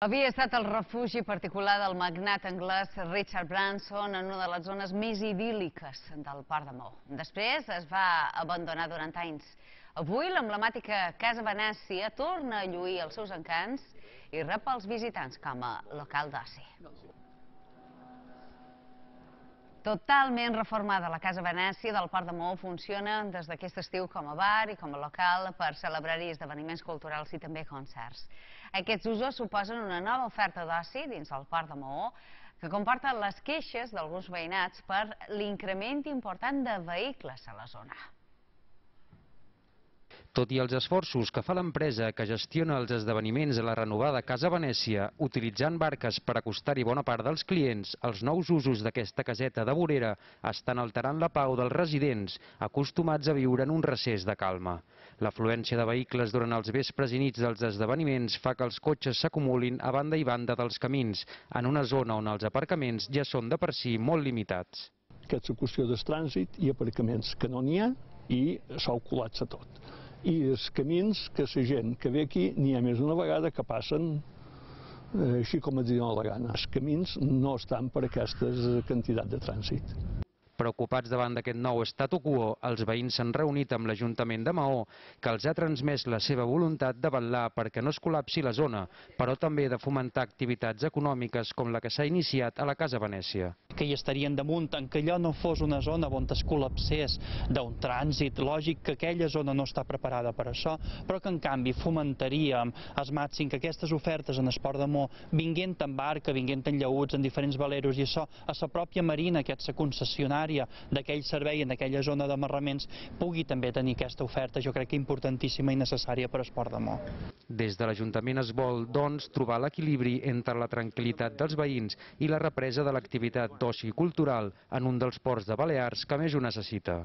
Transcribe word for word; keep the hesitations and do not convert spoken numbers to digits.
Havia estat el refugi particular del magnat anglès Richard Branson en una de les zones més idíl·liques del Port de Maó. Després es va abandonar durant anys. Avui l'emblemàtica Casa Venècia torna a lluir els seus encants i rep els visitants com a local d'oci. Totalment reformada, la Casa Venècia del Port de Maó funciona des d'aquest estiu com a bar i com a local per celebrar-hi esdeveniments culturals i també concerts. Aquests usos suposen una nova oferta d'oci dins del Port de Maó que comporta les queixes d'alguns veïnats per l'increment important de vehicles a la zona. Tot i els esforços que fa l'empresa que gestiona els esdeveniments a la renovada Casa Venècia, utilitzant barques per acostar-hi bona part dels clients, els nous usos d'aquesta caseta de vorera estan alterant la pau dels residents, acostumats a viure en un recés de calma. L'afluència de vehicles durant els vespres i nits dels esdeveniments fa que els cotxes s'acumulin a banda i banda dels camins, en una zona on els aparcaments ja són de per si molt limitats. Aquesta qüestió del trànsit i aparcaments que no n'hi ha i s'ho col·lapsa tot. I els camins que la gent que ve aquí n'hi ha més d'una vegada que passen eh, així com es diuen a la gana. Els camins no estan per aquesta quantitat de trànsit. Preocupats davant d'aquest nou statu quo, els veïns s'han reunit amb l'Ajuntament de Maó, que els ha transmès la seva voluntat de vetllar perquè no es col·lapsi la zona, però també de fomentar activitats econòmiques com la que s'ha iniciat a la Casa Venècia. Que hi estarien damunt, en que allò no fos una zona on es col·lapsés d'un trànsit, lògic que aquella zona no està preparada per això, però que en canvi fomentaríem al màxim que aquestes ofertes en el Port de Maó vinguent en barca, vinguent en llaüts, en diferents veleros, i això a la pròpia marina, que és la concessionària d'aquell servei en aquella zona d'amarraments, pugui també tenir aquesta oferta, jo crec que importantíssima i necessària per al Port de Maó. Des de l'Ajuntament es vol, doncs, trobar l'equilibri entre la tranquil·litat dels veïns i la represa de l'activitat d'oci cultural en un dels ports de Balears que més ho necessita.